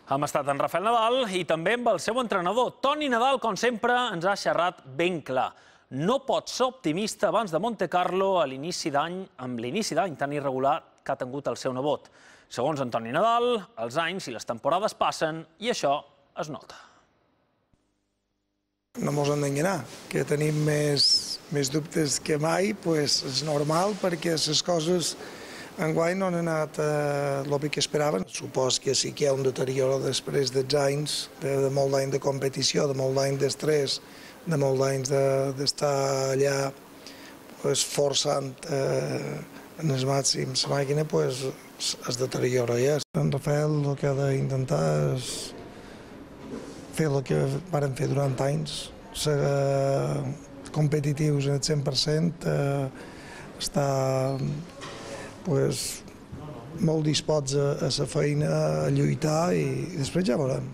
Hem estat en Rafael Nadal i també amb el seu entrenador. Toni Nadal, com sempre, ens ha xerrat ben clar. No pot ser optimista abans de Montecarlo amb l'inici d'any tan irregular que ha tingut el seu nebot. Segons en Toni Nadal, els anys i les temporades passen i això es nota. No ens hem d'enganar, que tenim més dubtes que mai, és normal perquè les coses enguany no han anat el que esperaven. Supos que sí que hi ha un deterioro després dels anys, de molt d'any de competició, de molt d'any d'estrès, de molt d'anys d'estar allà forçant en el màxim la màquina, es deteriora ja. En Rafael el que ha d'intentar és fer el que varen fer durant anys, ser competitius en el 100%, estar molt disposts a la feina, a lluitar i després ja veurem.